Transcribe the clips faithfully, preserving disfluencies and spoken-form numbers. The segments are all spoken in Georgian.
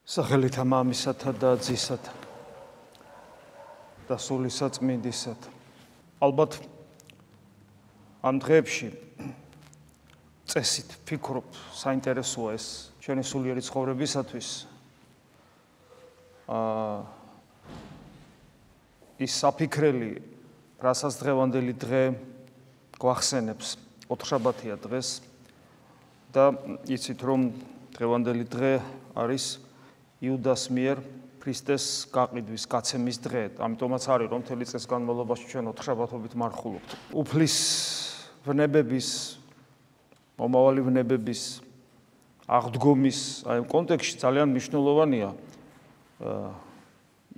სახელითა მამისათა და ძისათა და სული საწმინდისათა. ალბათ ამ დღეებში წესით ფიქრობ, საინტერესოა ეს ჩვენი სულიერი ცხოვრებისათვის. აა ის საფიქრელი, რასაც დღევანდელი დღე გვახსენებს, ოთხშაბათია დღეს და იცით რომ დღევანდელი დღე არის იუდას მიერ ქრისტეს გაყიდვის გაცემის დღე. ამიტომაც არის რომ მთელი წლის განმავლობაში ჩვენ ოთხშაბათობით მარხულობთ. უფლის ვნებების, მომავალი ვნებების აღდგომის აი ამ კონტექსტში ძალიან მნიშვნელოვანია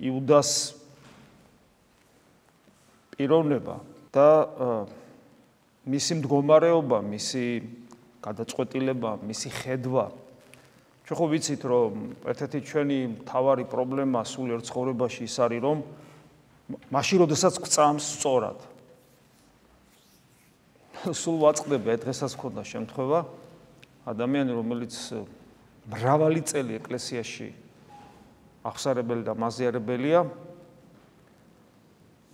იუდას პიროვნება და მისი მდგომარეობა, მისი გადაწყვეტილება, მისი ხედვა. ჩვენ ხო ვიცით რომ ერთ-ერთი ჩვენი მთავარი პრობლემა სულიერ ცხოვრებაში ის არის რომ მაშინ როდესაც გვწამს სწორად. სულ ვაწყდება დღესაც მქონდა შემთხვევა ადამიანი რომელიც მრავალი წელი ეკლესიაში აღსარებელი და მაზიარებელია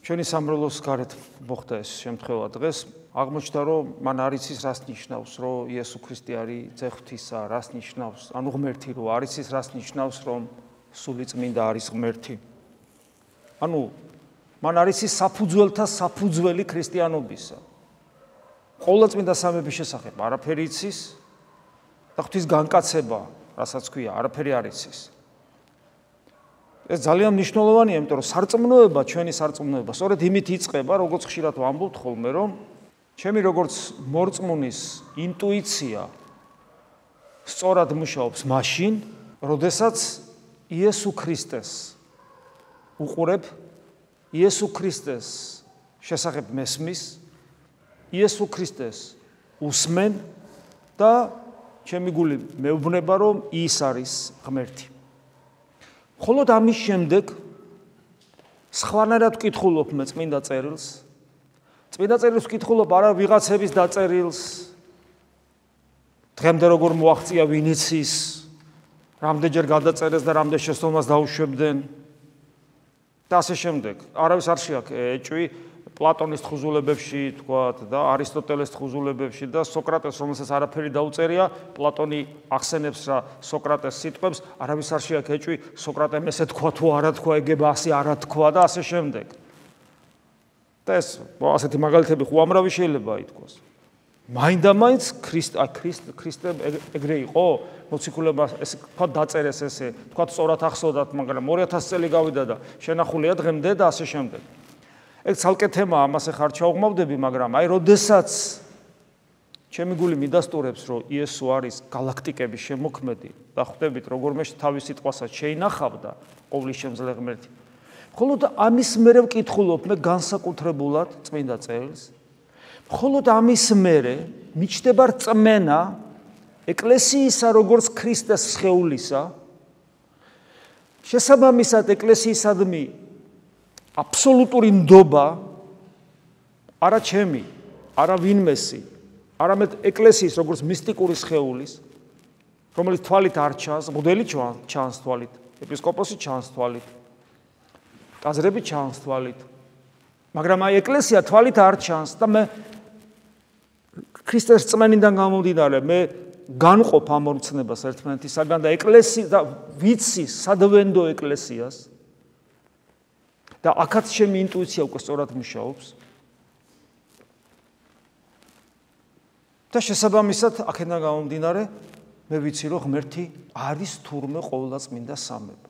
ჩვენი სამრევლოს გარეთ მოხდა ეს შემთხვევა დღეს აღმოჩნდა რომ მან არ იცის რას ნიშნავს რომ იესო ქრისტე არის ძე ღვთისა, რას ნიშნავს ანუ ღმერთი რომ არ იცის რას ნიშნავს რომ სული წმინდა არის ღმერთი. ანუ მან არ იცის საფუძველთა საფუძველი ქრისტიანობისა. ყოვლადწმინდა სამების შესახებ არაფერი იცის და ღვთის განკაცება, რასაც ქვია, არაფერი არ იცის. ეს ძალიან მნიშვნელოვანია, იმიტომ რომ სარწმუნოება, ჩვენი სარწმუნოება, სწორედ იმით იწყება, როგორც ხშირად ვამბობთ ხოლმე, რომ ჩემი როგორც მორწმუნის ინტუიცია სწორად მუშაობს მაშინ, როდესაც იესო ქრისტეს უყურებ, იესო ქრისტეს შესახებ მესმის, იესო ქრისტეს უსმენ და ჩემი გული მეუბნება, რომ ის არის ღმერთი. მხოლოდ ამის შემდეგ სხვანაირად ვკითხულობ მე წმინდა წერილს. წმინდა წერილს ვკითხულობ არა ვიღაცების დაწერილს. დღემდე როგორ მოაღწია ვინ იცის, რამდენჯერ გადაწერეს და რამდენ შესწავლას დაუშვებდნენ და ასე შემდეგ. არავის არ შეაქ ეჭვი პლატონის თხზულებებში თქვათ და არისტოტელეს თხზულებებში და სოკრატეს რომელსაც არაფერი დაუწერია, პლატონი ახსენებს რა სოკრატეს სიტყვებს, არავის არ შეაქ ეჭვი სოკრატემ ესე თქვა თუ არა თქვა, ეგება ასე არა თქვა და ასე შემდეგ. და ეს ასეთი მაგალითები უამრავი შეიძლება ითქვას. მაინდა-მაინც ქრისტე ქრისტე ეგრე იყო, მოციქულებმა ეს თქვა დაწერეს ესე, თქვა სწორად ახსოვდათ, მაგრამ ორი ათასი წელი გავიდა და შენახულია დღემდე და ასე შემდეგ. ეგ ცალკე თემაა, ამას ახლა არ ჩავღმავდები, მაგრამ აი როდესაც ჩემი გული მიდასტურებს, რომ იესო არის გალაქტიკების შემოქმედი და ხვდებით როგორმე თავის სიტყვასაც შეინახავდა ყოვლის შემძლე ღმერთი. მხოლოდ ამის მერე ვკითხულობ მე განსაკუთრებულად წმინდა წერილს. მხოლოდ ამის მერე მიჩნდება რწმენა ეკლესიისა როგორც ქრისტეს სხეულისა. შესაბამისად ეკლესიისადმი აბსოლუტური ნდობა არა ჩემი, არა ვინმესი, არამედ ეკლესიის როგორც მისტიკური სხეულის, რომელიც თვალით არ ჩანს, მღვდელი ჩანს თვალით, ეპისკოპოსი ჩანს თვალით, ტაძრები ჩანს თვალით, მაგრამ აი ეკლესია თვალით არ ჩანს და მე ქრისტეს რწმენიდან გამომდინარე მე განყოფ ამ მორწნებას ერთმანეთისაგან და ეკლესია და ვიცი სადვენდო ეკლესიას და აქაც ჩემი ინტუიცია უკვე სწორად მუშაობს. და შესაბამისად აქედან გამომდინარე მე ვიცი რომ ღმერთი არის თურმე ყოვლადწმინდა სამება.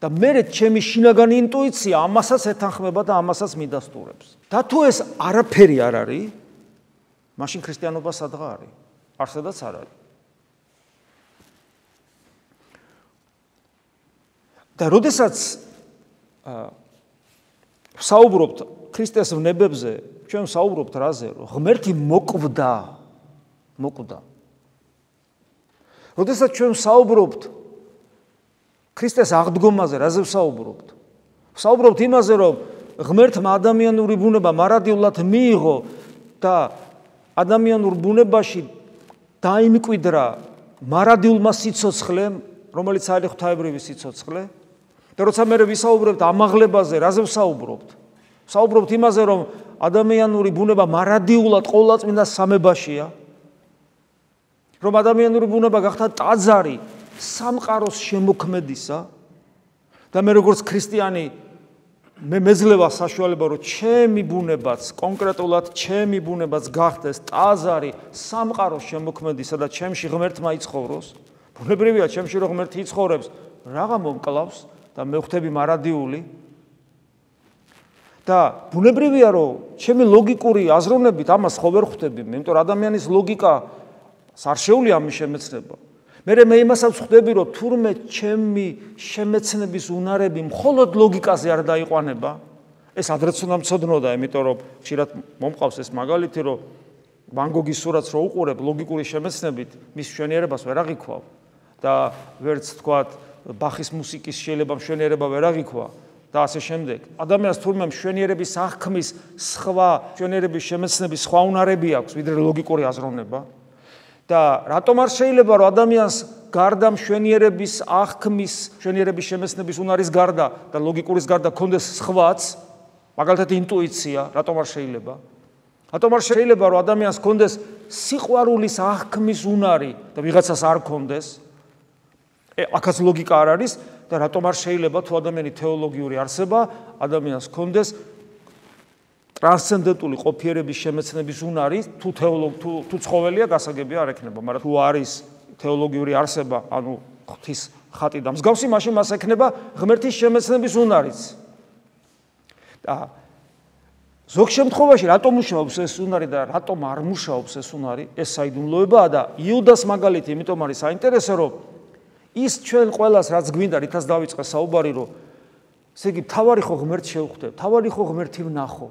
და მე ჩემი შინაგანი ინტუიცია ამასაც ეთანხმება და ამასაც მიდასტურებს. და თუ ეს არაფერი არ არის, მაშინ ქრისტიანობა სადღა არის? არსადაც არ არის. და როდესაც საუბრობთ ქრისტეს ვნებებზე, ჩვენ საუბრობთ რაზე, რომ ღმერთი მოკვდა, მოკვდა. როდესაც ჩვენ საუბრობთ ქრისტეს აღდგომაზე, რაზე ვსაუბრობთ? ვსაუბრობთ იმაზე, რომ ღმერთმა ადამიანური ბუნება მარადიულად მიიღო და ადამიანურ ბუნებაში დაიმკვიდრა მარადილმა სიცოცხლემ რომელიც არის ღვთაებრივი სიცოცხლე. და როცა მე ვისაუბრებთ ამაღლებაზე, რაზე ვსაუბრობთ? ვსაუბრობთ იმაზე, რომ ადამიანური ბუნება მარადიულად ყოვლადწმინდა სამებაშია, რომ ადამიანური ბუნება გახდა ტაძარი სამყაროს შემოქმედისა და მე როგორც ქრისტიანი მე მეძლევა საშუალება, რომ ჩემი ბუნებაც, კონკრეტულად ჩემი ბუნებაც გახდეს ტაძარი სამყაროს შემოქმედისა და ჩემში ღმერთმა იცხოვროს. ბუნებრივია ჩემში რომ ღმერთი იცხოვრებს, რაღა მომკლავს და მე ხვდები მარადიული. და ბუნებრივია რომ ჩემი ლოგიკური აზროვნებით ამას ხო ვერ ხვდები, იმიტომ რომ ადამიანის ლოგიკა არ შეუძლია ამის შემეცნება. მე მე იმასაც ხვდები, რომ თურმე ჩემი შემეცნების უნარები მხოლოდ ლოგიკაზე არ დაიყვანება, ეს ადრეც უნდა მცოდნოდა, იმიტომ რომ ხშირად მომყავს ეს მაგალითი, რომ ვან გოგის სურათს რო უყურებ ლოგიკური შემეცნებით, მის მშვენიერებას ვერ აღიქვა და ვერც თქვათ ბახის მუსიკის შეიძლება მშვენიერება ვერ აღიქვა და ასე შემდეგ. ადამიანს თურმე მშვენიერების აღქმის სხვა მშვენიერების შემეცნების სხვა უნარები აქვს, ვიდრე ლოგიკური აზროვნება. და რატომ არ შეიძლება რომ ადამიანს გარდა მშვენიერების აღქმის, მშვენიერების შემეცნების უნარის გარდა და ლოგიკურის გარდა ქონდეს სხვაც, მაგალითად ინტუიცია, რატომ არ შეიძლება? რატომ არ შეიძლება რომ ადამიანს ქონდეს სიყვარულის აღქმის უნარი და ვიღაცას არ ქონდეს? აქაც ლოგიკა არ არის და რატომ არ შეიძლება თუ ადამიანი თეოლოგიური არსება, ადამიანს ქონდეს ტრანსცენდენტული ყოფიერების შემეცნების უნარი, თუ თეოლოგ თუ თუ ცხოველია გასაგებია არ ექნება, მაგრამ თუ არის თეოლოგიური არსება, ანუ ღვთის ხატი და მსგავსი, მაშინ მას ექნება ღმერთის შემეცნების უნარიც. და ზოგ შემთხვევაში რატომ მუშაობს ეს უნარი და რატომ არ მუშაობს ეს უნარი, ეს საიდუმლოებაა და იუდას მაგალითი, იმიტომ არის საინტერესო, რომ ის ჩვენ ყველას რაც გვინდა, რითაც დავიწყე საუბარი, რომ ესე იგი თავარი ხო ღმერთს შევხვდე, თავარი ხო ღმერთი ვნახო.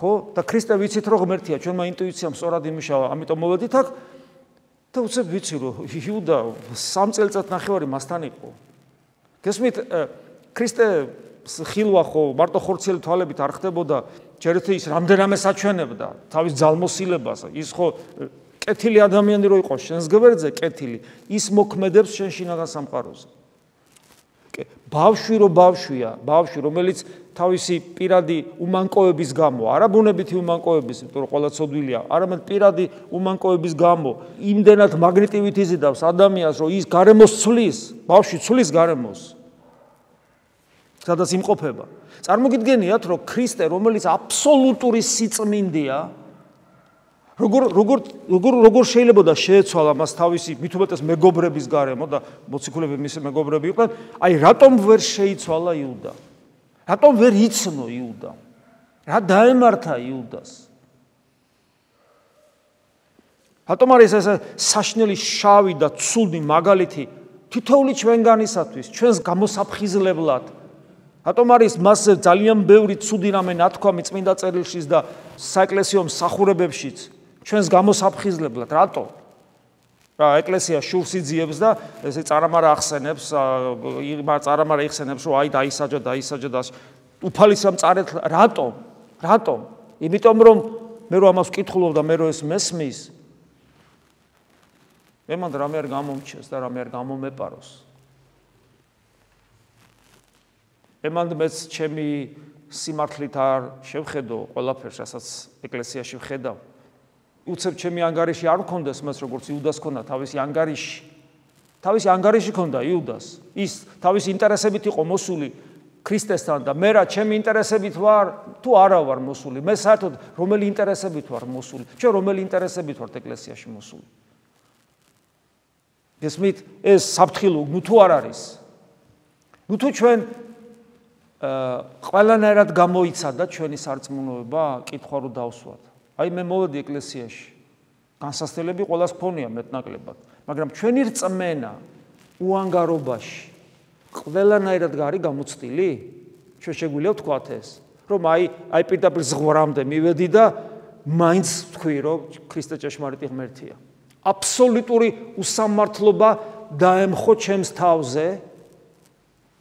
ხო? და ქრისტე ვიცით რომ ღმერთია, ჩვენმა ინტუიციამ სწორად იმუშავა, ამიტომ მოვედით აქ და უცებ ვიცი რომ იუდა სამ წელიწად ნახევარი მასთან იყო. გესმით, ქრისტე ხილვა ხო მარტო ხორციელი თვალებით არ ხდებოდა, ჯერეთი ის რამდენიმე საჩვენებდა თავის ძალმოსილებას, ის ხო კეთილი ადამიანი რო იყო შენს გვერდზე, კეთილი, ის მოქმედებს შენ შინაგან სამყაროზე. ბავშვი რო ბავშვია, ბავშვი რომელიც თავისი პირადი უმანკოების გამო, არა ბუნებითი უმანკოების, იმიტომ რომ ყველა ცოდვილია, არამედ პირადი უმანკოების გამო, იმდენად მაგნიტივით იზიდავს ადამიანს, რომ ის გარემოს ცვლის, ბავშვი ცვლის გარემოს. სადაც იმყოფება. წარმოგიდგენიათ, რომ ქრისტე, რომელიც აბსოლუტური სიწმინდეა, როგორ როგორ როგორ როგორ შეიძლება და შეეცვალა მას თავისი მით უმეტეს მეგობრების გარემო და მოციქულები მისი მეგობრები იყვნენ, აი რატომ ვერ შეიცვალა იუდა? რატომ ვერ იცნო იუდა? რა დაემართა იუდას? რატომ არის ეს საშნელი შავი და ცუდი მაგალითი თითოეული ჩვენგანისათვის, ჩვენს გამოსაფხიზლებლად? რატომ არის მასზე ძალიან ბევრი ცუდი რამე ნათქვამი წმინდა წერილშიც და საეკლესიო მსახურებებშიც? ჩვენს გამოსაფხიზლებლად, რატო? რა ეკლესია შურს იძიებს და ესე წარამარა ახსენებს, წარამარა იხსენებს, რომ აი დაისაჯა, დაისაჯა და უფალის რამ წარეთ, რატო? რატო? იმიტომ რომ მე რო ამას ვკითხულობ და მე რო ეს მესმის, მე მანდ რამე არ გამომჩეს და რამე არ გამომეპაროს. მე მანდ მეც ჩემი სიმართლით არ შევხედო ყველაფერს, რასაც ეკლესიაში ვხედავ. უცებ ჩემი ანგარიში არ მქონდეს მას როგორც იუდას ქონდა თავისი ანგარიში. თავისი ანგარიში ქონდა იუდას. ის თავისი ინტერესებით იყო მოსული ქრისტესთან და მე რა ჩემი ინტერესებით ვარ თუ არა ვარ მოსული. მე საერთოდ რომელი ინტერესებით ვარ მოსული? ჩვენ რომელი ინტერესებით ვართ ეკლესიაში მოსული? გესმით, ეს საფრთხილო ნუ თუ არ არის. ნუ თუ ჩვენ ყველანაირად გამოიცადა ჩვენი სარწმუნოება, კითხვა რო დავსვათ. აი მე მოვედი ეკლესიაში. განსასწრებელი ყველას ქონია მეტნაკლებად, მაგრამ ჩვენი რწმენა უანგარობაში ყველანაირად გარი გამოცდილი? ჩვენ შეგვიძლია ვთქვათ ეს, რომ აი აი პირდაპირ ზღვარამდე მივედი და მაინც ვთქვი, რომ ქრისტე ჭეშმარიტი ღმერთია. აბსოლუტური უსამართლობა დაემხო ჩემს თავზე,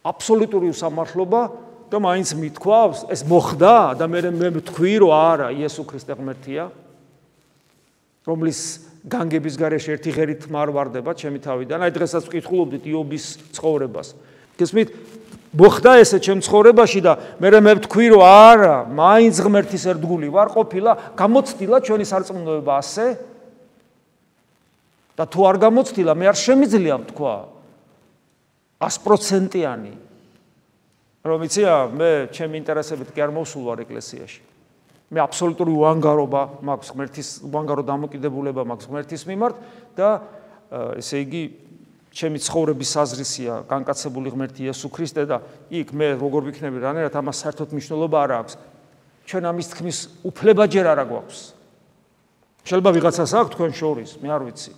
აბსოლუტური უსამართლობა და მაინც მithქვავს, ეს მოხდა და მე მე ვთქვი, რომ არა, იესო ქრისტე ღმერთია, რომლის განგების გარეშე ერთი ღერით მარვარდება ჩემი თავიდან. აი დღესაც ვკითხულობდით იობის ცხოვრებას. გესმით? მოხდა ესე ჩემ ცხოვრებაში და მე მე ვთქვი რომ არა, მაინც ღმერთის ერთგული ვარ ყოფილა, გამოცდილა ჩვენი სარწმუნოება ასე. და თუ არ გამოცდილა, მე არ შემიძლია ვთქვა ას პროცენტიანი. რომ იცია, მე ჩემი ინტერესებით კი არ მოვსულ ვარ ეკლესიაში. მე აბსოლუტური უანგარობა მაქვს ღმერთის უანგარო დამოკიდებულება მაქვს ღმერთის მიმართ და ესე იგი ჩემი ცხოვრების საზრისია განკაცებული ღმერთი იესო ქრისტე და იქ მე როგორ ვიქნები რანერად ამას საერთოდ მნიშვნელობა არ აქვს. ჩვენ ამის თქმის უფლება ჯერ არ გვაქვს. შეიძლება ვიღაცას აქვს თქვენ შორის, მე არ ვიცი.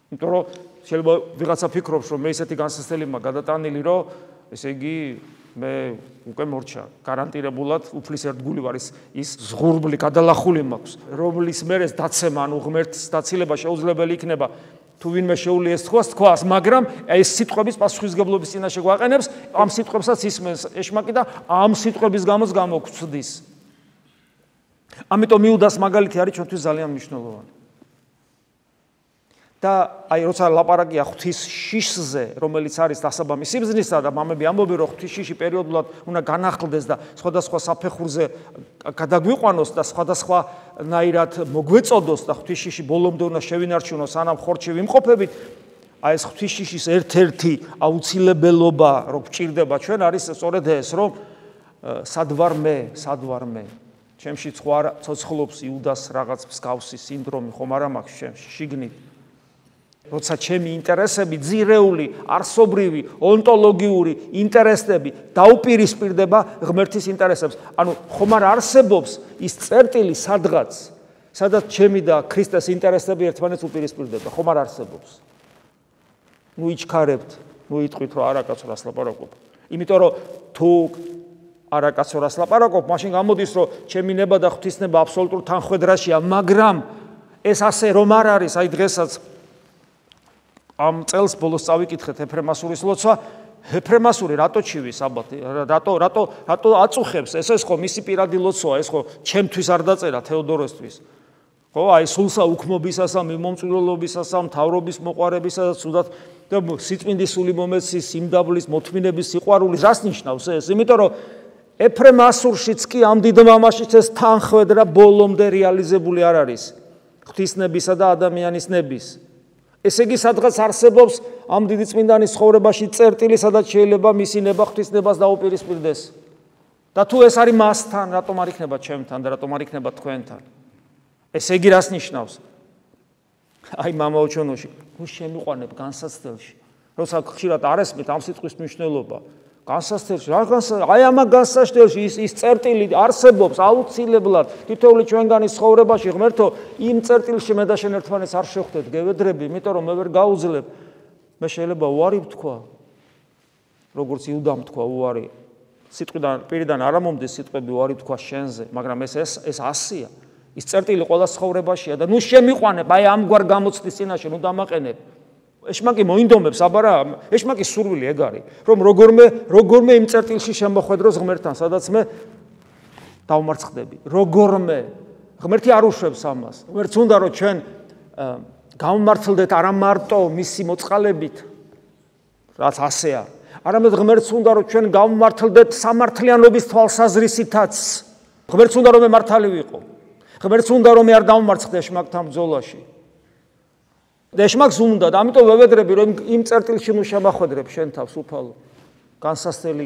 იმიტომ რომ შეიძლება ვიღაცა ფიქრობს რომ მე ისეთი განსაცდელი მაქვს გადატანილი რომ ესე იგი მე უკვე მორჩა გარანტირებულად უფლის ერთგული ვარ ის ის ზღურბლი გადალახული მაქვს რომლის მერეს დაცემა ანუ ღმერთის დაცილება შეუძლებელი იქნება თუ ვინმე შეუძლია ეს თქواس თქواس მაგრამ ეს სიტყვების პასუხისგებლობის წინაშე გვაყენებს ამ სიტყვებსაც ისმენს ეშმაკი და ამ სიტყვების გამოც გამოგვცდის ამიტომ იუდას მაგალითი არის ჩვენთვის ძალიან მნიშვნელოვანი და აი როცა ლაპარაკია ღვთის შიშზე, რომელიც არის დასაბამი სიბრძნისა და მამები ამბობენ რომ ღვთის შიში პერიოდულად უნდა განახლდეს და სხვადასხვა საფეხურზე გადაგვიყვანოს და სხვადასხვანაირად მოგვეწოდოს და ღვთის შიში ბოლომდე უნდა შევინარჩუნოს სანამ ხორცში ვიმყოფებით, აი ეს ღვთის შიშის ერთ-ერთი აუცილებელობა რომ გჭირდება ჩვენ არის სწორედ ეს რომ სად ვარ მე, სად ვარ მე ჩემში სხვა ცოცხლობს იუდას რაღაც მსგავსი სინდრომი ხომ არა მაქვს ჩემში შიგნით როცა ჩემი ინტერესები ძირეული, არსობრივი, ონტოლოგიური ინტერესები დაუპირისპირდება ღმერთის ინტერესებს. ანუ ხომ არ არსებობს ის წერტილი სადღაც, სადაც ჩემი და ქრისტეს ინტერესები ერთმანეთს უპირისპირდება. ხომ არ არსებობს. ნუ იჩქარებთ, ნუ იტყვით რომ არაკაცო რას ლაპარაკობ. იმიტომ რომ თუ არაკაცო რას ლაპარაკობ, მაშინ გამოდის რომ ჩემი ნება და ღვთისნება აბსოლუტურ თანხვედრაშია, მაგრამ ეს ასე რომ არ არის, აი დღესაც ამ წელს ბოლოს წავიკითხეთ ეფრემასურის ლოცვა ეფრემასური რატო ჩივის საბათი რატო რატო რატო აწუხებს ეს ეს ხო მისი პირადი ლოცვაა ეს ხო ჩემთვის არ დაწერა თეოდოროსთვის ხო აი სულსა უქმობისასა მიმომწვირლობისასა მთავრობის მოყარებისა და ცუდად და სიწმინდის სული მომეცის სიმდაბლის მოთმინების სიყვარულის რას ნიშნავს ეს იმიტომ რომ ეფრემასურშიც კი ამ დიდ მამაშიც ეს თანხვედრა ბოლომდე რეალიზებული არ არის ღვთისნებისა და ადამიანის ნების ესე იგი სადღაც არსებობს ამ დიდი წმინდანის ცხოვრებაში წერტილი, სადაც შეიძლება მისი ნება ღვთისნებას დაუპირისპირდეს. და თუ ეს არის მასთან, რატომ არ იქნება ჩემთან და რატომ არ იქნება თქვენთან? ესე იგი რას ნიშნავს? აი მამაო ჩვენოში, თუ შემიყვანებ განსაცდელში, როცა ხშირად არ ესმით ამ სიტყვის მნიშვნელობა, განსაცდელში, რა განსაცდელში, აი ამ განსაცდელში ის ის წერტილი არსებობს აუცილებლად თითოეული ჩვენგანის ცხოვრებაში ღმერთო იმ წერტილში მე და შენ ერთმანეთს არ შევხვდეთ გევედრები იმიტომ რომ მე ვერ გაუძლებ მე შეიძლება უარი ვთქვა როგორც იუდამ თქვა უარი სიტყვიდან პირიდან არ მომდის სიტყვები უარი ვთქვა შენზე მაგრამ ეს ეს ეს ასია ის წერტილი ყველა ცხოვრებაშია და ნუ შემიყვანებ აი ამგვარ გამოცდის წინაშე ნუ დამაყენებ ეშმაკი მოინდომებს აბარა ეშმაკის სურვილი ეგ არის რომ როგორმე როგორმე იმ წერტილში შემოხვედროს ღმერთთან სადაც მე დავმარცხდები როგორმე ღმერთი არ უშვებს ამას ღმერთს უნდა რომ ჩვენ გავმართლდეთ არა მარტო მისი მოწყალებით რაც ასეა არამედ ღმერთს უნდა რომ ჩვენ გავმართლდეთ სამართლიანობის თვალსაზრისითაც ღმერთს უნდა რომ მე მართალი ვიყო ღმერთს უნდა რომ მე არ დავმარცხდე ეშმაკთან ბრძოლაში და ეშმაკს უნდა და ამიტომ ვევედრები რომ იმ წერტილში ნუ შემახვედრებ შენ თავს უფალო განსასწრელი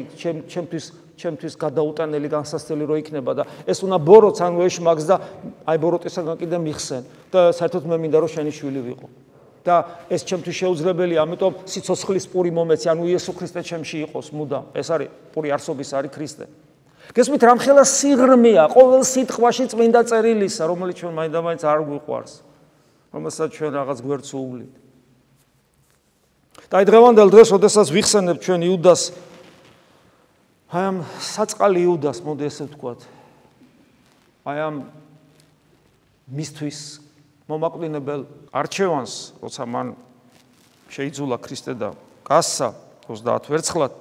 ჩემთვის ჩემთვის გადაუტანელი განსასწრელი რო იქნება და ეს უნდა ბოროტს ანუ ეშმაკს და აი ბოროტისაგან კიდე მიხსენ და საერთოდ მე მინდა რომ შენი შვილი ვიყო და ეს ჩემთვის შეუძლებელია ამიტომ სიცოცხლის პური მომეცი ანუ იესო ქრისტე ჩემში იყოს მუდამ ეს არის პური არსობის არის ქრისტე გესმით რამხელა სიღრმეა ყოველ სიტყვაში წმინდა წერილისა რომელიც ჩვენ მაინდა-მაინც არ გვიყვარს რომელსაც ჩვენ რაღაც გვერდს უვლით. და აი დღევანდელ დღეს, როდესაც ვიხსენებ ჩვენ იუდას, აი ამ საწყალი იუდას, მოდი ესე ვთქვათ. აი ამ მისთვის მომაკვდინებელ არჩევანს, როცა მან შეიძულა ქრისტე და გასცა ოცდაათ ვერცხლად.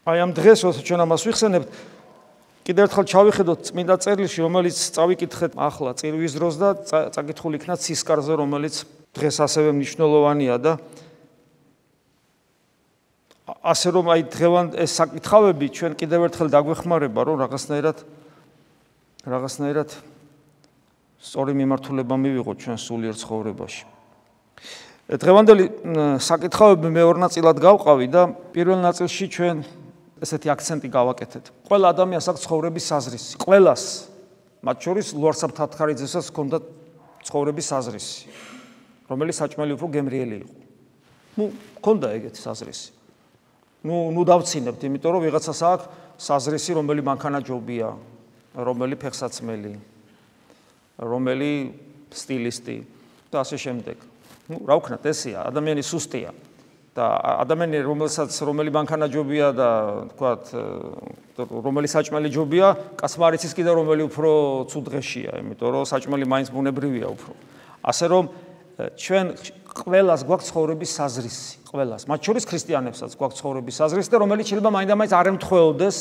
აი ამ დღეს, როცა ჩვენ ამას ვიხსენებთ, კიდევ ერთხელ ჩავიხედოთ წმინდა წერილში, რომელიც წავიკითხეთ ახლა წირვის დროს და წაკითხული იქნა ცისკარზე, რომელიც დღეს ასევე მნიშვნელოვანია და ასე რომ აი დღევანდ ეს საკითხავები ჩვენ კიდევ ერთხელ დაგვეხმარება, რომ რაღაცნაირად რაღაცნაირად სწორი მიმართულება მივიღოთ ჩვენ სულიერ ცხოვრებაში. დღევანდელი საკითხავები მეორე ნაწილად გავყავი და პირველ ნაწილში ჩვენ ესეთი აქცენტი გავაკეთეთ. ყველა ადამიანს აქვს ცხოვრების საზრისი. ყველას, მათ შორის ლუარსაბ თათხარიძესაც ჰქონდა ცხოვრების საზრისი, რომელიც საჭმელი უფრო გემრიელი იყო. ნუ ჰქონდა ეგეთი საზრისი. ნუ ნუ დავცინებთ, იმიტომ რომ ვიღაცას აქვს საზრისი, რომელი მანქანაჯობია, რომელი ფეხსაცმელი, რომელი სტილისტი და ასე შემდეგ. ნუ რა ვქნათ, ესეა, ადამიანი სუსტია. და ადამიანი რომელსაც რომელი მანქანაჯობია და თქვათ რომელი საჭმელი ჯობია, კაცმა არ იცის კიდევ რომელი უფრო ცუდღეშია, იმიტომ რომ საჭმელი მაინც ბუნებრივია უფრო. ასე რომ ჩვენ ყველას გვაქვს ცხოვრების საზრისი, ყველას, მათ შორის ქრისტიანებსაც გვაქვს ცხოვრების საზრისი და რომელიც შეიძლება მაინდა-მაინც არ ემთხვეოდეს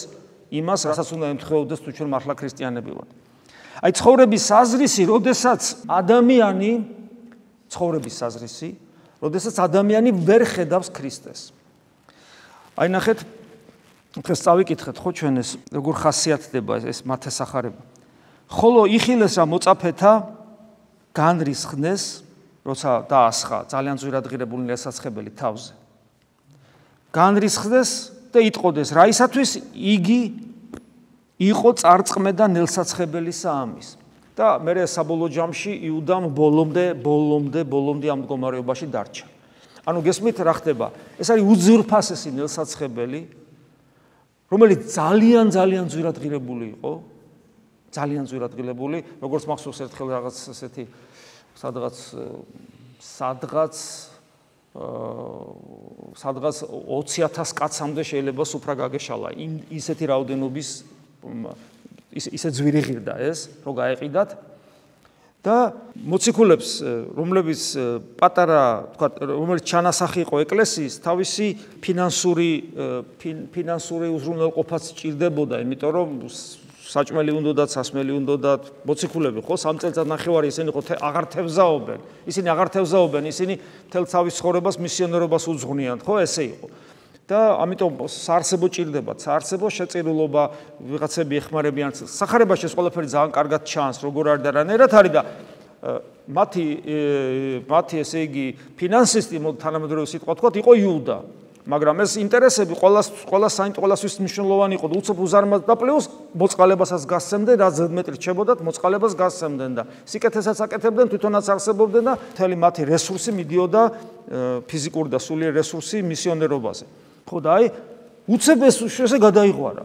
იმას, რასაც უნდა ემთხვეოდეს თუ ჩვენ მართლა ქრისტიანები ვართ. აი ცხოვრების საზრისი, როდესაც ადამიანი ცხოვრების საზრისი როდესაც ადამიანი ვერ ხედავს ქრისტეს. აი ნახეთ, დღეს წავიკითხეთ ხო ჩვენ ეს როგორ ხასიათდება ეს მათესახარება. ხოლო იხილეს რა მოწაფეთა განრისხნეს, როცა დაასხა ძალიან ძვირად ღირებული ნელსაცხებელი თავზე. განრისხნეს და იტყოდეს, რაისათვის იგი იყო წარწყმე და ნელსაცხებელი საამის. და მე საბოლოო ჯამში იუდამ ბოლომდე, ბოლომდე, ბოლომდე ამ მდგომარეობაში დარჩა. ანუ გესმით რა ხდება? ეს არის უძვირფასესი ნელსაცხებელი, რომელიც ძალიან ძალიან ძვირად ღირებული იყო, ძალიან ძვირად ღირებული, როგორც მახსოვს ერთხელ რაღაც ესეთი სადღაც სადღაც სადღაც ოცი ათას კაცამდე შეიძლება სუფრა გაგეშალა. ისეთი რაოდენობის ისე ძვირი ღირდა ეს, რომ გაეყიდათ და მოციქულებს, რომლებიც პატარა, თქვათ, რომელიც ჩანასახი იყო ეკლესიის, თავისი ფინანსური ფინანსური უზრუნველყოფაც სჭირდებოდა, იმიტომ რომ საჭმელი უნდოდათ, სასმელი უნდოდათ, მოციქულები ხო სამ წელიწად ნახევარი ისინი ხო აღარ თევზაობენ. ისინი აღარ თევზაობენ, ისინი მთელ თავის ცხოვრებას მისიონერობას უძღვნიან, ხო ესე იყო. და ამიტომ საარსებო ჭირდებათ, საარსებო შეწირულობა, ვიღაცები ეხმარებიან. სახარებაში ეს ყველაფერი ძალიან კარგად ჩანს, როგორ არის და რანაირად არის და მათი მათი ესე იგი ფინანსისტი, თანამედროვე სიტყვა თქვათ, იყო იუდა. მაგრამ ეს ინტერესები ყველას ყველას საინტერესო ყველასთვის მნიშვნელოვანი იყო და უცებ უზარმაზ და პლუს მოწყალებასაც გასცემდნენ, რაც ზედმეტი რჩებოდათ, მოწყალებას გასცემდნენ და სიკეთესაც აკეთებდნენ, თვითონაც არსებობდნენ და მთელი მათი რესურსი მიდიოდა ფიზიკური და სულიერი რესურსი მისიონერობაზე. ხო და აი უცებ ეს ესე გადაიღვარა.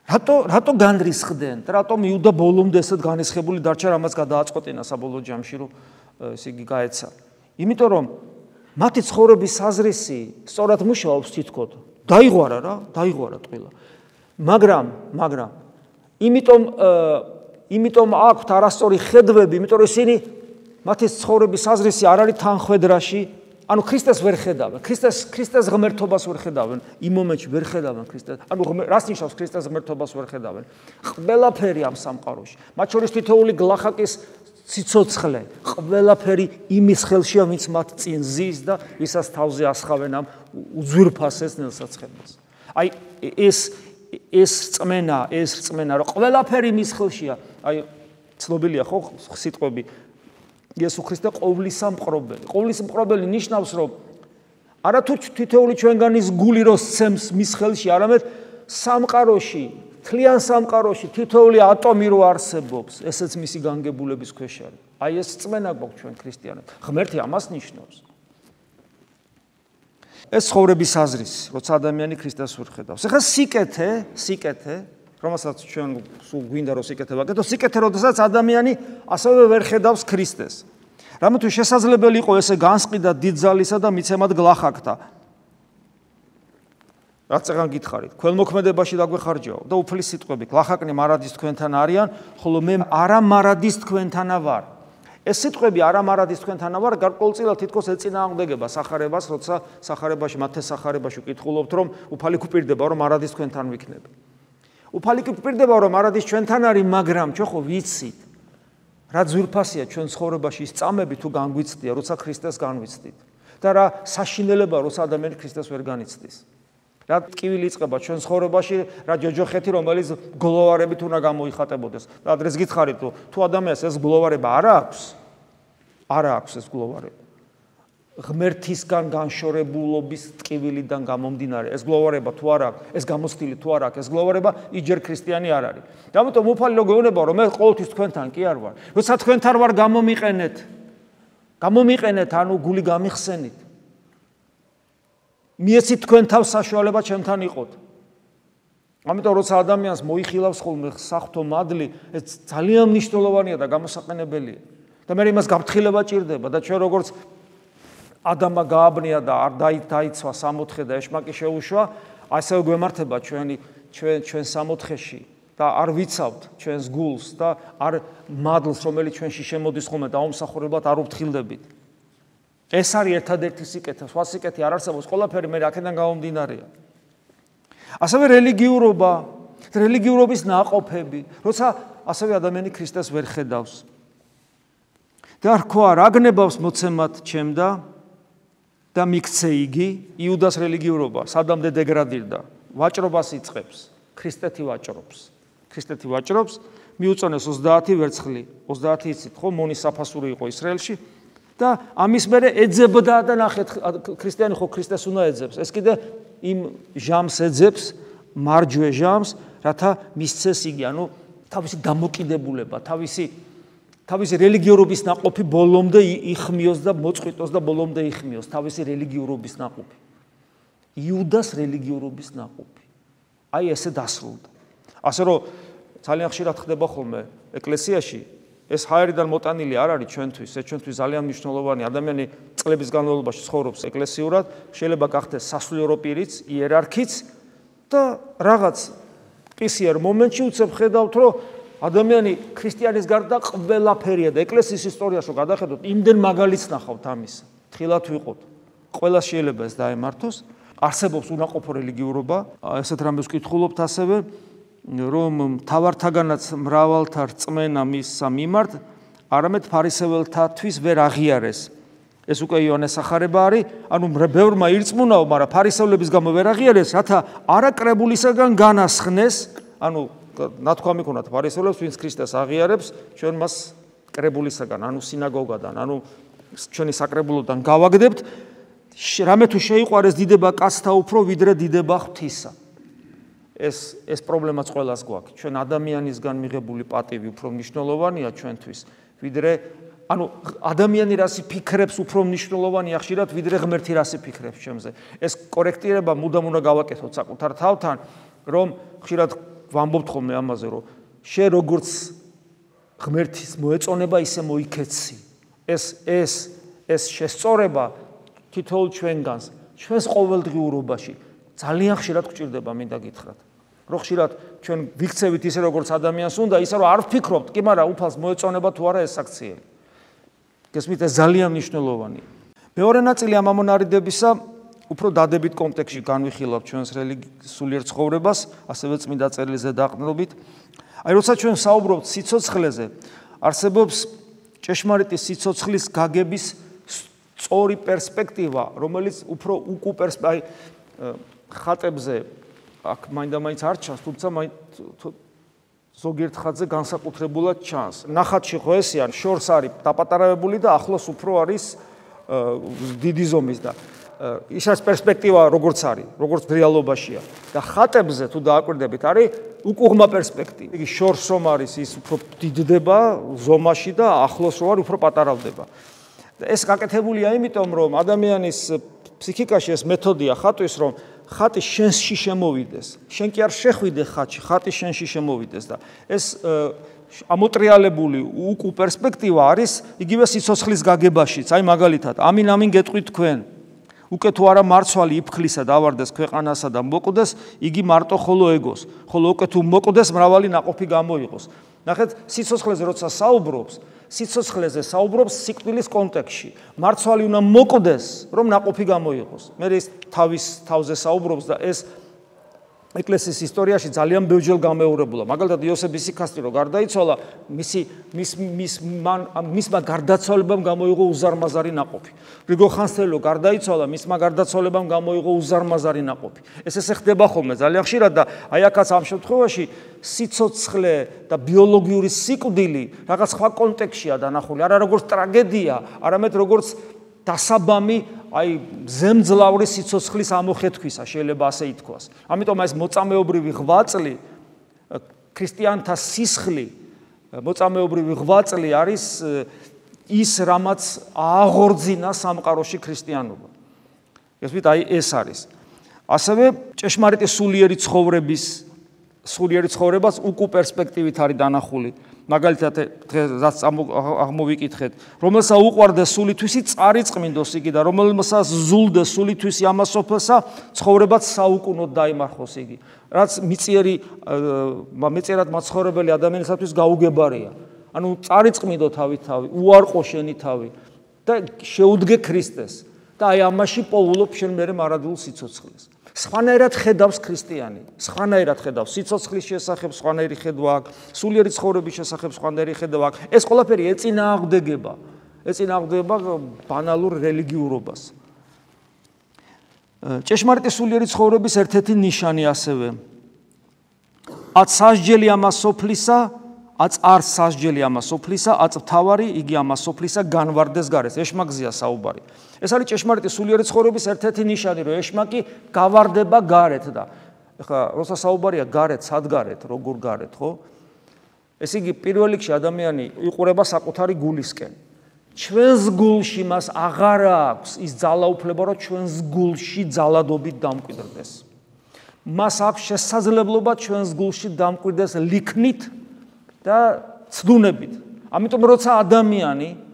რატო რატო განრისხდნენ? რატომ იუდა ბოლომდე ესეთ განრისხებული დარჩა, რამაც გადააწყვეტინა საბოლოო ჯამში, რომ ესე იგი გაეცა. იმიტომ რომ მათი ცხოვრების საზრისი სწორად მუშაობს თითქოს. დაიღვარა რა, დაიღვარა ტყილა. მაგრამ, მაგრამ იმიტომ იმიტომ აქვთ არასწორი ხედვები, იმიტომ რომ ისინი მათი ცხოვრების საზრისი არ არის თანხვედრაში. ანუ ქრისტეს ვერ ხედავენ, ქრისტეს ქრისტეს ღმერთობას ვერ ხედავენ, იმ მომენტში ვერ ხედავენ ქრისტეს. ანუ რას ნიშნავს ქრისტეს ღმერთობას ვერ ხედავენ? ყველაფერი ამ სამყაროში, მათ შორის თითოეული გლახაკის ციცოცხლე, ყველაფერი იმის ხელშია, ვინც მათ წინ ზის და ვისაც თავზე ასხავენ ამ უძვირფასეს ნელსაცხებელს. აი ეს ეს რწმენა, ეს რწმენა, რომ ყველაფერი მის ხელშია, აი ცნობილია ხო სიტყვები იესო ქრისტე ყოვლისა მყრობელი. ყოვლისა მყრობელი ნიშნავს, რომ არათუ თითოეული ჩვენგანის გული რო სცემს მის ხელში, არამედ სამყაროში, თლიან სამყაროში თითოეული ატომი რო არსებობს, ესეც მისი განგებულების ქვეშ არის. აი ეს რწმენა გვაქვს ჩვენ ქრისტიანებს. ღმერთი ამას ნიშნავს. ეს ცხოვრების აზრის, როცა ადამიანი ქრისტეს ვერ ხედავს. ეხლა სიკეთე, სიკეთე, რომელსაც ჩვენ სულ გვინდა რომ სიკეთე ვაკეთო, სიკეთე, როდესაც ადამიანი ასევე ვერ ხედავს ქრისტეს. რამეთუ შესაძლებელი იყო ესე განსყიდა დიდძალისა და მიცემად გლახაკთა. რაც წეგან გითხარით, ქველმოქმედებაში დაგვეხარჯაო და უფლის სიტყვები, გლახაკნი მარადის თქვენთან არიან, ხოლო მე არა მარადის თქვენთანა ვარ. ეს სიტყვები არა მარადის თქვენთანა ვარ, გარკვეულწილად თითქოს ეწინააღმდეგება სახარებას, როცა სახარებაში, მათეს სახარებაში ვკითხულობთ, რომ უფალი გვპირდება, რომ მარადის თქვენთან ვიქნები. უფალი კი გვპირდება, რომ არადის ჩვენთან არის, მაგრამ ჩვენ ხო ვიცით, რა ძვირფასია ჩვენ ცხოვრებაში ის წამები თუ განგვიცდია, როცა ქრისტეს განვიცდით და რა საშინელება, როცა ადამიანი ქრისტეს ვერ განიცდის. რა ტკივილი იწყება ჩვენ ცხოვრებაში, რა ჯოჯოხეთი, რომელიც გლოვარებით უნდა გამოიხატებოდეს. და დღეს გითხარით, თუ ადამიანს ეს გლოვარება არ აქვს, არ აქვს ეს გლოვარება. ღმერთისგან განშორებულობის ტკივილიდან გამომდინარე, ეს გლოვარება თუ არ აქვს, ეს გამოცდილი თუ არ აქვს, ეს გლოვარება იჯერ ქრისტიანი არ არის. და ამიტომ უფალი რო გეუბნება, რომ მე ყოველთვის თქვენთან კი არ ვარ. როცა თქვენთან ვარ, გამომიყენეთ. გამომიყენეთ, ანუ გული გამიხსენით. მიეცით თქვენ თავს საშუალება ჩემთან იყოთ. ამიტომ როცა ადამიანს მოიხილავს ხოლმე საღვთო მადლი, ეს ძალიან მნიშვნელოვანია და გამოსაყენებელია. და მე იმას გაფრთხილება ჭირდება და ჩვენ როგორც ადამა გააბნია და არ დაიცვა სამოთხე და ეშმაკი შეუშვა, ასევე გვემართება ჩვენი ჩვენ ჩვენ სამოთხეში და არ ვიცავთ ჩვენს გულს და არ მადლს, რომელიც ჩვენში შემოდის ხოლმე დაუმსახურებლად არ უფრთხილდებით. ეს არის ერთადერთი სიკეთე, სხვა სიკეთე არ არსებობს, ყველაფერი მე აქედან გამომდინარეა. ასევე რელიგიურობა, რელიგიურობის ნაყოფები, როცა ასევე ადამიანი ქრისტეს ვერ ხედავს. და რქვა რა გნებავს მოცემად ჩემდა და მიქცე იგი იუდას რელიგიურობა, სადამდე დეგრადირდა, ვაჭრობას იწყებს, ქრისტეთი ვაჭრობს. ქრისტეთი ვაჭრობს, მიუწონეს ოცდაათი ვერცხლი, ოცდაათი იცით ხო, მონის საფასური იყო ისრაელში და ამის მერე ეძებდა და ნახეთ, ქრისტიანი ხო ქრისტეს უნდა ეძებს. ეს კიდე იმ ჟამს ეძებს, მარჯვე ჟამს, რათა მისცეს იგი, ანუ თავისი დამოკიდებულება, თავისი თავისი რელიგიურობის ნაყოფი ბოლომდე იხმიოს და მოწყვიტოს და ბოლომდე იხმიოს თავისი რელიგიურობის ნაყოფი. იუდას რელიგიურობის ნაყოფი. აი ესე დასრულდა. ასე რომ ძალიან ხშირად ხდება ხოლმე ეკლესიაში, ეს ჰაერიდან მოტანილი არ არის ჩვენთვის, ეს ჩვენთვის ძალიან მნიშვნელოვანი. ადამიანი წლების განმავლობაში ცხოვრობს ეკლესიურად, შეიძლება გახდეს სასულიერო პირიც, იერარქიც და რაღაც ყისიერ მომენტში უცებ ხედავთ, რომ ადამიანი ქრისტიანის გარდა ყველაფერია და ეკლესიის ისტორიაში რომ გადახედოთ, იმდენ მაგალითს ნახავთ ამის. თხილად ვიყოთ. ყველა შეიძლება ეს დაემართოს. არსებობს უნაყოფო რელიგიურობა, ესეთ რამეს ვკითხულობთ ასევე, რომ მთავართაგანაც მრავალთა რწმენა მისსა მიმართ, არამედ ფარისეველთათვის ვერ აღიარეს. ეს უკვე იოანეს სახარება არის, ანუ ბევრმა ირწმუნაო, მაგრამ ფარისევლების გამო ვერ აღიარეს, რათა არაკრებულისაგან განასხნეს, ანუ ნათქვამი ქონათ ფარისევლებს, ვინც ქრისტეს აღიარებს, ჩვენ მას კრებულისაგან, ანუ სინაგოგადან, ანუ ჩვენი საკრებულოდან გავაგდებთ, რამე თუ შეიყვარეს დიდება კაცთა უფრო, ვიდრე დიდება ღვთისა. ეს ეს პრობლემაც ყველას გვაქვს. ჩვენ ადამიანისგან მიღებული პატივი უფრო მნიშვნელოვანია ჩვენთვის, ვიდრე ანუ ადამიანი რასი ფიქრებს უფრო მნიშვნელოვანია ხშირად, ვიდრე ღმერთი რასი ფიქრებს ჩემზე. ეს კორექტირება მუდამ უნდა გავაკეთოთ საკუთარ თავთან, რომ ხშირად ვამბობთ ხოლმე ამაზე, რომ შე როგორც ღმერთის მოეწონება, ისე მოიქეცი. ეს ეს ეს შესწორება თითოეულ ჩვენგანს, ჩვენს ყოველდღიურობაში ძალიან ხშირად გვჭირდება, მინდა გითხრათ. რომ ხშირად ჩვენ ვიქცევით ისე როგორც ადამიანს უნდა, ისე რომ არ ვფიქრობთ, კი, მაგრამ უფალს მოეწონება თუ არა ეს აქციელი. გესმით, ეს ძალიან მნიშვნელოვანია. მეორე ნაწილი ამ ამონარიდებისა უფრო დადებით კონტექსტში განვიხილავთ ჩვენს სულიერ ცხოვრებას, ასევე წმინდა წერილზე დაყრდნობით. აი, როცა ჩვენ საუბრობთ სიცოცხლეზე, არსებობს ჭეშმარიტი სიცოცხლის გაგების სწორი პერსპექტივა, რომელიც უფრო უკუ პერსპექტივა, აი, ხატებზე აქ მაინდა-მაინც არ ჩანს, თუმცა ზოგიერთ ხატზე განსაკუთრებულად ჩანს. ნახატში ხო ესეა, შორს არის დაპატარავებული და ახლოს უფრო არის დიდი ზომის და ისას პერსპექტივა როგორც არის, როგორც რეალობაშია და ხატებზე თუ დააკვირდებით, არის უკუღმა პერსპექტივა. იგი შორს რომ არის, ის უფრო დიდდება ზომაში და ახლოს რო არის, უფრო პატარავდება. ეს გაკეთებულია იმიტომ, რომ ადამიანის ფსიქიკაში ეს მეთოდია ხატვის, რომ ხატი შენში შემოვიდეს. შენ კი არ შეხვიდე ხატში, ხატი შენში შემოვიდეს და ეს ამოტრიალებული უკუ პერსპექტივა არის იგივე სიცოცხლის გაგებაშიც. აი მაგალითად, ამინ ამინ გეტყვით თქვენ. უკვე თუ არა მარცვალი იფქლისა დავარდეს ქვეყანასა და მოკვდეს, იგი მარტო ხოლო ეგოს. ხოლო უკვე თუ მოკვდეს, მრავალი ნაყოფი გამოიღოს. ნახეთ, სიცოცხლეზე როცა საუბრობს, სიცოცხლეზე საუბრობს სიკვდილის კონტექსტში. მარცვალი უნდა მოკვდეს, რომ ნაყოფი გამოიღოს. მე ის თავის თავზე საუბრობს და ეს ეკლესიის ისტორიაში ძალიან ბევრჯერ გამეორებულა. მაგალითად იოსებ ისიქასტი რო გარდაიცვალა, მისი მის მის მისმა გარდაცვალებამ გამოიღო უზარმაზარი ნაყოფი. რიგო ხანძთელი რო გარდაიცვალა, მისმა გარდაცვალებამ გამოიღო უზარმაზარი ნაყოფი. ეს ესე ხდება ხოლმე ძალიან ხშირად და აი აქაც ამ შემთხვევაში სიცოცხლე და ბიოლოგიური სიკვდილი რაღაც სხვა კონტექსტშია დანახული, არა როგორც ტრაგედია, არამედ როგორც დასაბამი აი ზემძლავრი სიცოცხლის ამოხეთქვისა შეიძლება ასე ითქვას. ამიტომ ეს მოწამეობრივი ღვაწლი, ქრისტიანთა სისხლი, მოწამეობრივი ღვაწლი არის ის, რამაც ააღორძინა სამყაროში ქრისტიანობა. ესვით აი ეს არის. ასევე ჭეშმარიტი სულიერი ცხოვრების სულიერი ცხოვრებას უკუ პერსპექტივით არის დანახული. მაგალითად დღეს აღმოვიკითხეთ, რომელსაც უყვარდა სულითვისი წარიწყმინდოს იგი და რომელსაც ზულდა სულითვისი ამასოფლსა ცხოვრებაც საუკუნოდ დაიმარხოს იგი. რაც მიწიერი მეწერად მაცხოვრებელი ადამიანისათვის გაუგებარია. ანუ წარიწყმინდო თავით თავი, უარყო შენი თავი და შეუდგე ქრისტეს და აი ამაში პოულობ შენ მერე მარადულ სიცოცხლეს. სხვანაირად ხედავს ქრისტიანი, სხვანაირად ხედავს სიცოცხლის შესახებ, სხვანაირი ხედვა აქვს, სულიერი ცხოვრების შესახებ სხვანაირი ხედვა აქვს. ეს ყველაფერი ეწინააღმდეგება, ეწინააღმდეგება ბანალურ რელიგიურობას. ჭეშმარიტი სულიერი ცხოვრების ერთ-ერთი ნიშანი ასევე. აც სასჯელი ამას სოფლისა, აც არ სასჯელი ამას სოფლისა, აც მთავარი იგი ამას სოფლისა განვარდეს გარეს. ეშმაკზეა საუბარი. ეს არის ჭეშმარიტი სულიერი ცხოვრების ერთ-ერთი ნიშანი, რომ ეშმაკი გავარდება გარეთ და ეხლა როცა საუბარია გარეთ, სად გარეთ, როგორ გარეთ, ხო? ესე იგი პირველ რიგში ადამიანი იყურება საკუთარი გულისკენ. ჩვენს გულში მას აღარ აქვს ის ძალაუფლება, რომ ჩვენს გულში ძალადობით დამკვიდრდეს. მას აქვს შესაძლებლობა ჩვენს გულში დამკვიდრდეს ლიქნით და ცდუნებით. ამიტომ როცა ადამიანი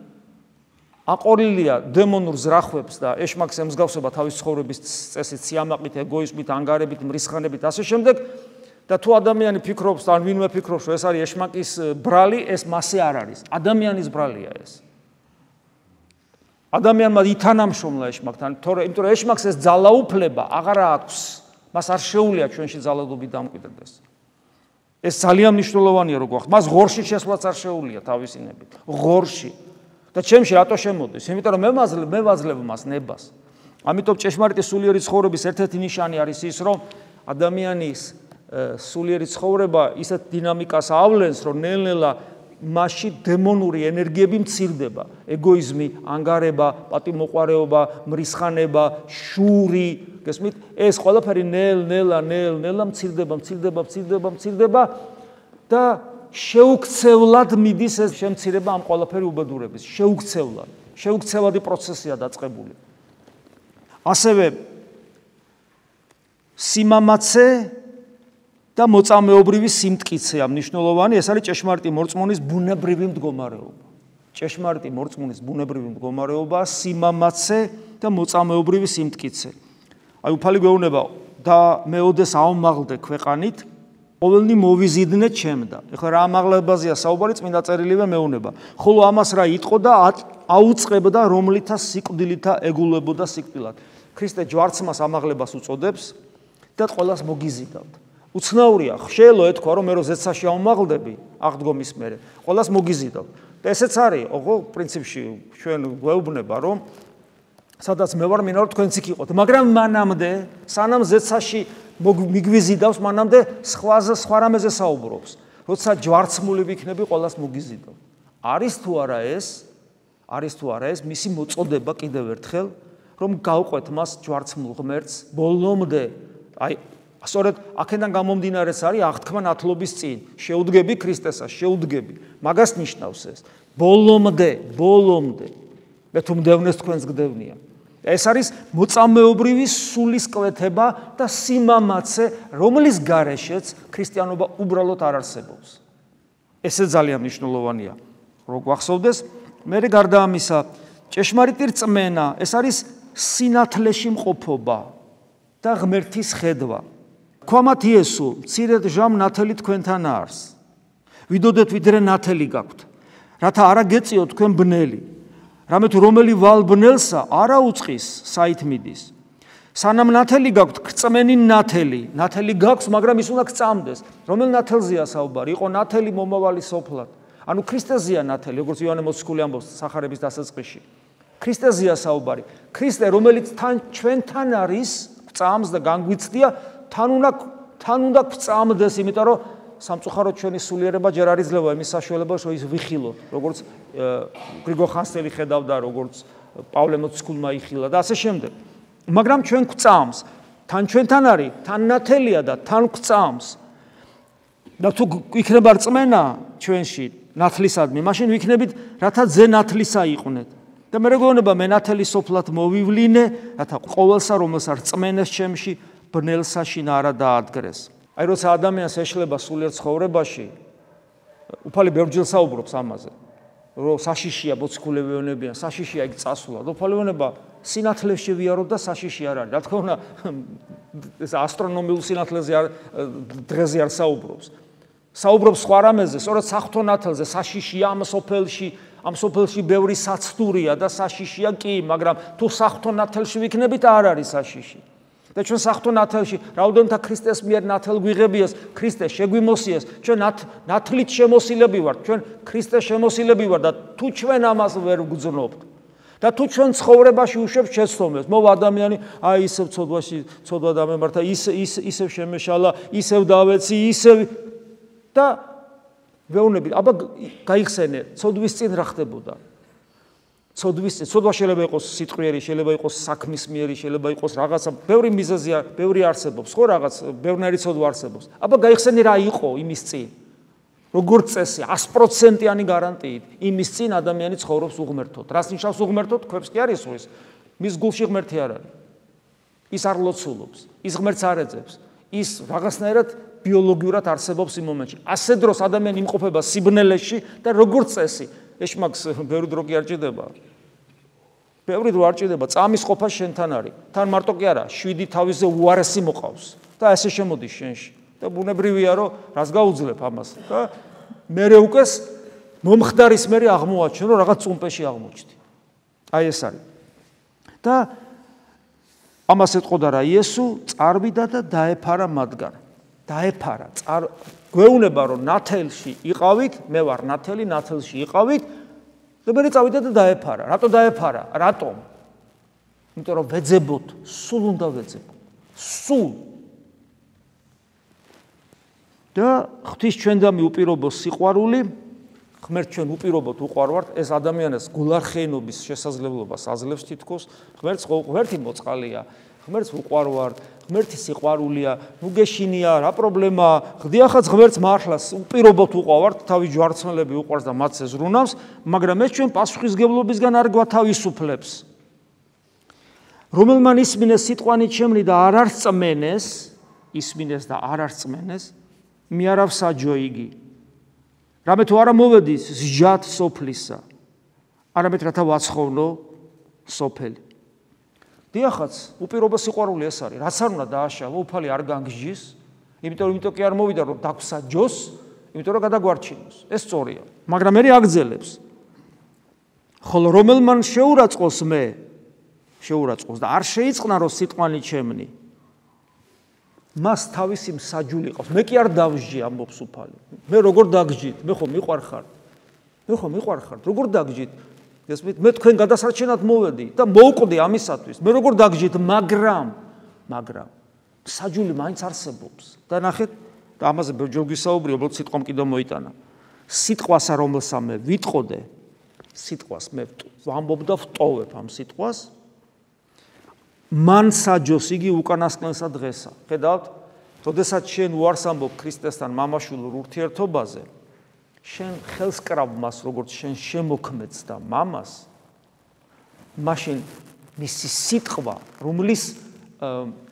აყოლილია დემონურ ზრახვებს და ეშმაკს ემსგავსება თავის ცხოვრების წესით, სიამაყით, ეგოიზმით, ანგარებით, მრისხანებით, ასე შემდეგ და თუ ადამიანი ფიქრობს, ან ვინმე ფიქრობს, რომ ეს არის ეშმაკის ბრალი, ეს მასე არ არის. ადამიანის ბრალია ეს. ადამიანმა ითანამშრომლა ეშმაკთან, თორე იმიტომ რომ ეშმაკს ეს ძალაუფლება აღარ აქვს, მას არ შეუძლია ჩვენში ძალადობით დამკვიდრდეს. ეს ძალიან მნიშვნელოვანია რო გვახსოვს. მას ღორში შესვლაც არ შეუძლია თავისინებით. ღორში. და ჩემში რატო შემოდის? იმიტომ რომ მე მე ვაძლევ მას ნებას. ამიტომ ჭეშმარიტი სულიერი ცხოვრების ერთ-ერთი ნიშანი არის ის, რომ ადამიანის სულიერი ცხოვრება ისეთ დინამიკას ავლენს, რომ ნელ-ნელა მასში დემონური ენერგიები მცირდება. ეგოიზმი, ანგარება, პატიმოყვარეობა, მრისხანება, შური, გესმით? ეს ყველაფერი ნელ-ნელა, ნელ-ნელა მცირდება, მცირდება, მცირდება, მცირდება და შეუქცევლად მიდის ეს შემცირება ამ ყველაფერი უბედურების. შეუქცევლად. შეუქცევადი პროცესია დაწყებული. ასევე სიმამაცე და მოწამეობრივი სიმტკიცეა მნიშვნელოვანი, ეს არის ჭეშმარიტი მორწმუნის ბუნებრივი მდგომარეობა. ჭეშმარიტი მორწმუნის ბუნებრივი მდგომარეობა, სიმამაცე და მოწამეობრივი სიმტკიცე. აი უფალი გვეუბნება და მეოდეს აუმაღლდე ქვეყანით, ყოველნი მოვიზიდნე ჩემდა. ეხლა რა ამაღლებაზეა საუბარი, წმინდა წერილივე მეუბნება. ხოლო ამას რა იტყო და აუწყებდა რომლითა სიკვდილითა ეგულებოდა სიკვდილად. ქრისტე ჯვარცმას ამაღლებას უწოდებს და ყველას მოგიზიდავთ. უცნაურია, ხშელო ეთქვა, რომ მე რო ზეცაში აუმაღლდები, აღდგომის მერე, ყველას მოგიზიდავთ. და ესეც არის, ოღო პრინციპში ჩვენ გვეუბნება, რომ სადაც მე ვარ, მინდა რომ თქვენც იქ იყოთ, მაგრამ მანამდე, სანამ ზეცაში მიგვიზიდავს, მანამდე სხვაზე სხვა რამეზე საუბრობს. როცა ჯვარცმული ვიქნები, ყველას მოგიზიდავ. არის თუ არა ეს, არის თუ არა ეს მისი მოწოდება კიდევ ერთხელ, რომ გავყვეთ მას ჯვარცმულ ღმერთს ბოლომდე. აი, სწორედ აქედან გამომდინარეც არის აღთქმა ნათლობის წინ. შეუდგები ქრისტესას, შეუდგები. მაგას ნიშნავს ეს. ბოლომდე, ბოლომდე. მე თუ მდევნეს თქვენს გდევნია. ეს არის მოწამეობრივი სულისკვეთება და სიმამაცე, რომლის გარეშეც ქრისტიანობა უბრალოდ არ არსებობს. ესე ძალიან მნიშვნელოვანია, რომ გვახსოვდეს. მე გარდა ამისა, ჭეშმარიტი რწმენა, ეს არის სინათლეში მყოფობა და ღმერთის ხედვა. ქვამათ იესო, მცირედ ჟამ ნათელი თქვენთან არის. ვიდოდეთ ვიდრე ნათელი გაქვთ, რათა არა გეწიოთ თქვენ ბნელი. რამე თუ რომელი ვალ ბნელსა არა უწყის, საით მიდის. სანამ ნათელი გაქვთ, გწმენი ნათელი, ნათელი გაქვს, მაგრამ ის უნდა გწამდეს. რომელ ნათელზეა საუბარი? იყო ნათელი მომავალი სოფლად. ანუ ქრისტეზეა ნათელი, როგორც იოანე მოციქული ამბობს სახარების დასაწყისში. ქრისტეზეა საუბარი. ქრისტე, რომელიც თან ჩვენთან არის, გწამს და განგვიცდია, თან უნდა თან უნდა გწამდეს, იმიტომ რომ სამწუხაროდ ჩვენი სულიერება ჯერ არ იძლევა იმის საშუალებას, რომ ის ვიხილოთ, როგორც გრიგორ ხანძთელი ხედავდა, როგორც პავლე მოციქულმა იხილა და ასე შემდეგ. მაგრამ ჩვენ გვწამს, თან ჩვენთან არის, თან ნათელია და თან გვწამს. და თუ იქნება რწმენა ჩვენში ნათლისადმი, მაშინ ვიქნებით, რათა ძე ნათლისა იყვნენ. და მე მეგონება მე ნათელი სოფლად მოვივლინე, რათა ყოველსა რომელსა რწმენეს ჩემში ბნელსა შინა არა დაადგრეს. აი როცა ადამიანს ეშლება სულიერ ცხოვრებაში, უფალი ბევრჯერ საუბრობს ამაზე, რომ საშიშია მოციქულები ეუბნებიან, საშიშია იქ წასვლა. უფალი ეუბნება სინათლეში ვიარო და საშიში არ არის. რა თქმა უნდა, ეს ასტრონომიულ სინათლეზე არ დღეზე არ საუბრობს. საუბრობს სხვა რამეზე, სწორედ საღვთო ნათელზე, საშიშია ამ სოფელში, ამ სოფელში ბევრი საცდურია და საშიშია კი, მაგრამ თუ საღვთო ნათელში ვიქნებით, არ არის საშიში. და ჩვენ საღვთო ნათელში, რაოდენთა ქრისტეს მიერ ნათელ გვიღებიას, ქრისტე შეგვიმოსიეს, ჩვენ ნათლით შემოსილები ვართ, ჩვენ ქრისტეს შემოსილები ვართ და თუ ჩვენ ამას ვერ ვგრძნობთ და თუ ჩვენ ცხოვრებაში უშვებთ შეცდომებს, მოვა ადამიანი, აი ისევ ცოდვაში, ცოდვა დამემართა, ისე ისევ შემეშალა, ისევ დავეცი, ისევ და ვეუბნები, აბა გაიხსენე, ცოდვის წინ რა ხდებოდა? ცოდვის წინ, ცოდვა შეიძლება იყოს სიტყვიერი, შეიძლება იყოს საქმისმიერი, შეიძლება იყოს რაღაცა, ბევრი მიზეზი, ბევრი არსებობს, ხო რაღაც, ბევრნაირი ცოდვა არსებობს. აბა გაიხსენე რა იყო იმის წინ? როგორ წესი, ას პროცენტიანი გარანტიით, იმის წინ ადამიანი ცხოვრობს უღმერთოდ. რას ნიშნავს უღმერთოდ? ქვებს კი არ ისვრის. მის გულში ღმერთი არ არის. ის არ ლოცულობს, ის ღმერთს არ ეძებს. ის რაღაცნაირად ბიოლოგიურად არსებობს იმ მომენტში. ასე დროს ადამიანი იმყოფება სიბნელეში და როგორ წესი, ეშმაკს ბევრი დრო კი არ ჭირდება. ბევრი დრო არ ჭირდება, წამის ყოფა შენთან არის. თან მარტო კი არა, შვიდი თავისზე უარესი მოყავს და ასე შემოდის შენში. და ბუნებრივია, რომ რას გაუძლებ ამას. და მერე უკეს მომხდარის მერე აღმოაჩენ, რომ რაღაც წუმპეში აღმოჩნდი. აი ეს არის. და ამას ეთყოდა რა იესო, წარვიდა და დაეფარა მათგან. დაეფარა, გვეუბნება, რომ ნათელში იყავით, მე ვარ ნათელი, ნათელში იყავით და მე წავიდა და დაეფარა. რატო დაეფარა? რატომ? იმიტომ რომ ვეძებოთ, სულ უნდა ვეძებოთ. სულ და ღვთის ჩვენდამი უპირობო სიყვარული, ღმერთს ჩვენ უპირობოდ უყვარვართ, ეს ადამიანის გულარხეინობის შესაძლებლობას აძლევს თითქოს, ღმერთს ღმერთი მოწყალია, ღმერთს უყვარვართ, ღმერთი სიყვარულია, ნუ გეშინია, რა პრობლემაა, ღდიახაც ღმერთს მართლაც უპირობოდ უყვარვართ, თავი ჯვარცმელები უყვარს და მათ ზრუნავს, მაგრამ ეს ჩვენ პასუხისგებლობისგან არ გვათავისუფლებს. რომელმან ისმინეს სიტყვანი ჩემნი და არ არწმენეს, ისმინეს და არ არწმენეს, მე არ ავსაჯო იგი. რამე თუ არა მოვედის ზჯათ სოფლისა, არამედ რათა ვაცხოვნო სოფელი. დიახაც, უპირობო სიყვარული ეს არის, რაც არ უნდა დააშალო, უფალი არ განგჟის, იმიტომ რომ იმიტომ კი არ მოვიდა რომ დაგვსაჯოს, იმიტომ რომ გადაგვარჩინოს. ეს სწორია, მაგრამ მე აგძელებს. ხოლო რომელმან შეურაცხყოს მე, შეურაცხყოს და არ შეიწყნა რომ სიტყვანი ჩემნი, მას თავისი მსაჯული ყავს. მე კი არ დავსჯი ამბობს უფალი. მე როგორ დაგსჯით? მე ხო მიყვარხარ. მე ხო მიყვარხარ. როგორ დაგსჯით? ესმით, მე თქვენ გადასარჩენად მოვედი და მოვკვდი ამისათვის. მე როგორ დაგსჯით, მაგრამ მაგრამ მსაჯული მაინც არსებობს. და ნახეთ, და ამაზე ბევრჯერ გვისაუბრე, უბრალოდ სიტყვამ კიდევ მოიტანა. სიტყვასა რომელსა მე ვიტყოდე, სიტყვას მე ვამბობ და ვტოვებ ამ სიტყვას. მან საჯოს იგი უკანასკნელსა დღესა. ხედავთ, როდესაც შენ უარს ამბობ ქრისტესთან მამაშვილურ ურთიერთობაზე, შენ ხელს კრავ მას, როგორც შენ შემოქმედს და მამას, მაშინ მისი სიტყვა, რომლის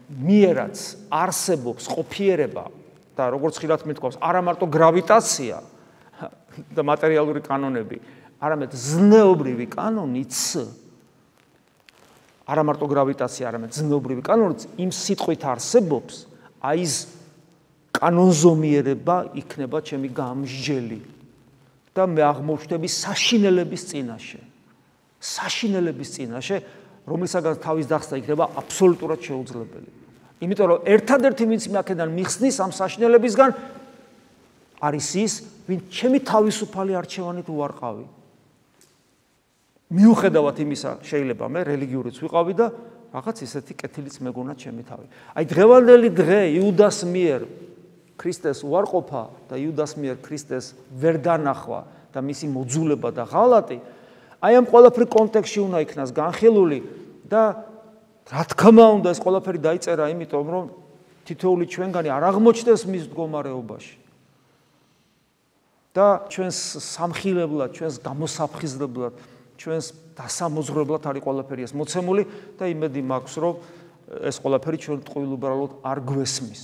მიერაც არსებობს ყოფიერება და როგორც ხილად მეთქვავს, არა მარტო გრავიტაცია და მატერიალური კანონები, არამედ ზნეობრივი კანონიც, არა მარტო გრავიტაცია, არამედ ზნეობრივი კანონიც იმ სიტყვით არსებობს, აი ეს კანონზომიერება იქნება ჩემი გამსჯელი და მე აღმოჩნდები საშინელების წინაშე. საშინელების წინაშე რომლისაგან თავის დახსნა იქნება აბსოლუტურად შეუძლებელი. იმიტომ რომ ერთადერთი ვინც აქედან მიხსნის ამ საშინელებისგან არის ის, ვინც ჩემი თავისუფალი არჩევანით უარყავი. მიუხედავად იმისა, შეიძლება მე რელიგიურიც ვიყავი და რაღაც ისეთი კეთილიც მეგონა ჩემი თავი. აი დღევანდელი დღე იუდას მიერ ქრისტეს უარყოფა და იუდას მიერ ქრისტეს ვერ დანახვა და მისი მოძულება და ღალატი, აი ამ ყველაფრის კონტექსტში უნდა იქნას განხილული და რა თქმა უნდა ეს ყველაფერი დაიწერა იმიტომ რომ თითოეული ჩვენგანი არ აღმოჩნდეს მის მდგომარეობაში. და ჩვენს სამხილებლად, ჩვენს გამოსაფხიზლებლად, ჩვენს დასამოძღვრებლად არის ყველაფერი ეს მოცემული და იმედი მაქვს რომ ეს ყველაფერი ჩვენ ტყუილ უბრალოდ არ გვესმის.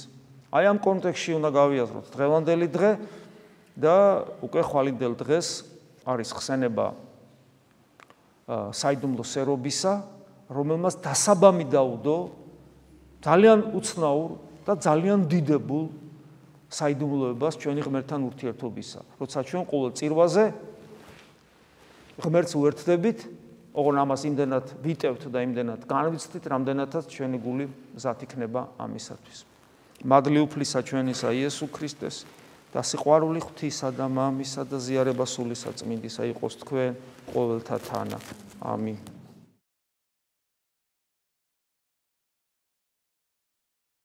აი ამ კონტექსტში უნდა გავიაზროთ დღევანდელი დღე და უკვე ხვალინდელ დღეს არის ხსენება საიდუმლო სერობისა, რომელმაც დასაბამი დაუდო ძალიან უცნაურ და ძალიან დიდებულ საიდუმლოებას ჩვენი ღმერთთან ურთიერთობისა. როცა ჩვენ ყოველ წირვაზე ღმერთს უერთდებით, ოღონ ამას იმდენად ვიტევთ და იმდენად განვიცდით, რამდენადაც ჩვენი გული მზად იქნება ამისათვის. მადლი უფლისა ჩვენისა იესო ქრისტეს და სიყვარული ღვთისა და მამისა და ზიარება სული საწმინდისა იყოს თქვენ ყოველთა თანა. ამინ.